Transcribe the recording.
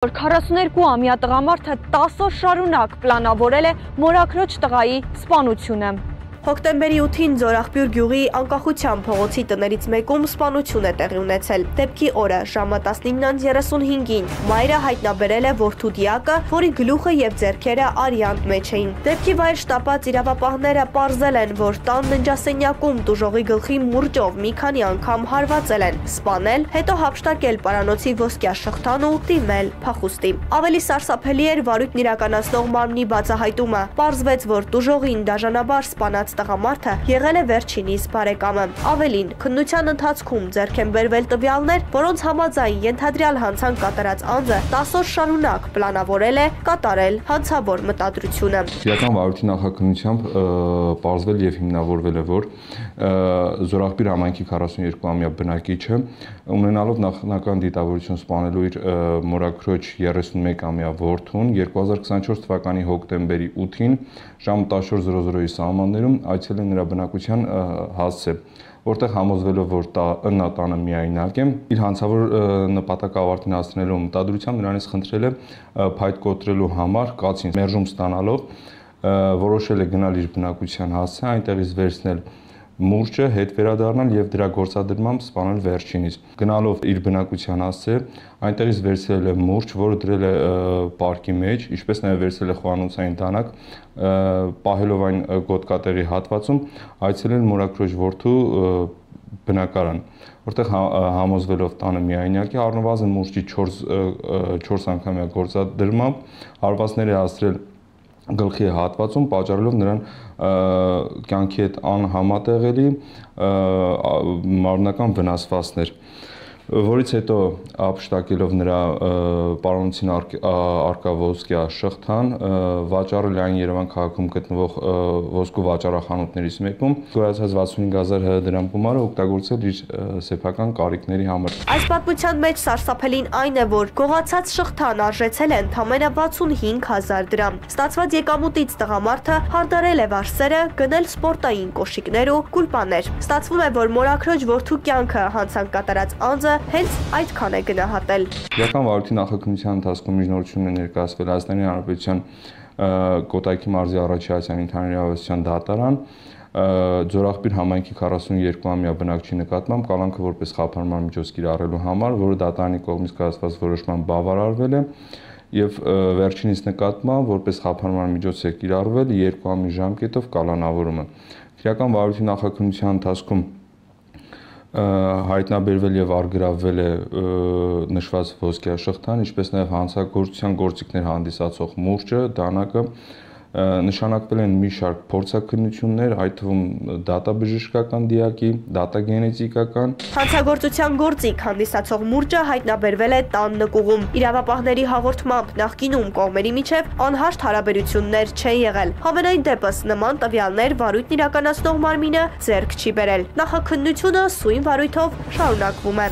42-ամյա տղամարդը 10 օր շարունակ պլանավորել է մորաքրոջ տղայի սպանությունը։ Հոկտեմբերի 8-ին Ձորախբյուր գյուղի Անկախության փողոցի տներից մեկում սպանություն է տեղի ունեցել։ Դեպքի օրը ժամը 19:35-ին մայրը հայտնաբերել է որդու դիակը, որի գլուխը եւ ձեռքերը արյան մեջ էին։ Դեպքի վայր շտապած իրավապահները պարզել են, որ տան ննջասենյակում տուժողի գլխի մուրճով մի քանի անգամ հարվածել են, սպանել, հետո հափշտակել պարանոցի ոսկյա շղթան ու դիմել փախուստի։ Ավելի սարսափելի էր վարույթն իրականացնող մարմնի բացահայտումը։ Պարզվեց, որ տուժողին դաժանաբար սպանած տղամարդը եղել է վերջինիս բարեկամը։ Ավելին, քննության ընթացքում ձեռք են բերվել տվյալներ, որոնց համաձայն ենթադրյալ հանցանք կատարած անձը 10 օր շարունակ պլանավորել է կատարել հանցավոր մտադրությունը։ Իրական վարույթի նախաքննությամբ պարզվել եւ հիմնավորվել է, որ Զորախբյուր համայնքի 42-ամյա բնակիչը ունենալով նախնական դիտավորություն սպանելու իր մորաքրոջ 31-ամյա որդուն 2024 թվականի հոկտեմբերի 8-ին ժամը 14:00-ի սահմաններում այցելել նրա բնակության հասցե, որտեղ համոզվելով, որ նա տանը միայնակ է, իր հանցավոր նպատակը ավարտին հասցնելու մտադրությամբ նրանից խնդրել է փայտ կոտրելու համար կացին մերժում ստանալով որոշել է գնալ իր բնակության հասցե, այնտեղից վերցնել մուրճը, հետ վերադառնալ եւ դրա գործադրմամբ սպանել վերջինիս։ Գնալով իր բնակության հասցե, այնտեղից վերցրել է մուրճ, որը դրել է պարկի մեջ, ինչպես նաեւ վերցրել է խոհանոցային դանակ, պահելով այն գոտկատեղի հատվածում, այցելել մորաքրոջ որդու բնակարան, որտեղ համոզվելով տանը միայնակ է, առնվազն մուրճի 4 անգամյա գործադրմամբ հարվածներ է հասցրել գլխի հատվածում, պատճառելով նրան կյանքի հետ անհամատեղելի մարմնական վնասվածքներ, որից հետո հափշտակելով նրա պարանոցին արկա ոսկյա շղթան, վաճառել այն Երևան քաղաքում գտնվող ոսկու վաճառախանութներից մեկում, գոյացած 65000 դրամ գումարը օգտագործել իր սեփական կարիքների համար։ Այս պատմության մեջ սարսափելին այն է, որ գողացած շղթան արժեցել է ընդամենը 65000 դրամ։ Ստացված եկամուտից տղամարդը հարդարել է վարսերը, գնել սպորտային կոշիկներ ու գուլպաներ։ Ստացվում է, որ մորաքրոջ որդու կյանքը հանցանք կատարած անձը հենց այդքան է գնահատել։ Իրական վարույթի նախաքննության ընթացքում միջնորդություն է ներկայացվել Հայաստանի Հանրապետության Կոտայքի մարզի Առաջի Ասիան ընդհանրավետության դատարան Ձորախբյուր համայնքի 42-ամյա բնակչի նկատմամբ կալանքը որպես խափանման միջոց կիրառելու համար, որը դատարանի կողմից կայացված որոշմամբ բավարարվել է եւ վերջինիս նկատմամբ որպես խափանման միջոց է կիրառվել 2 ամիս ժամկետով կալանավորումը։ Իրական վարույթի նախաքննության ընթացքում հայտնաբերվել եւ արգրավվել է նշված ոսկյա շղթան, ինչպես նաեւ հանցագործության գործիքներ հանդիսացող մուրճը, դանակը, նշանակվել են մի շարք փորձաքննություններ, այդ թվում դատաբժշկական դիակի, դատագենետիկական։ Հանցագործության գործիք հանդիսացող մուրճը հայտնաբերվել է տան նկուղում։ Իրավապահների հաղորդմամբ նախկինում կողմերի միջև անհաշտ հարաբերություններ չեն եղել։ Համենայն դեպս նման տվյալներ վարույթն իրականացնող մարմինը ձեռք չի բերել։ Նախաքննությունը սույն վարույթով շարունակվում է։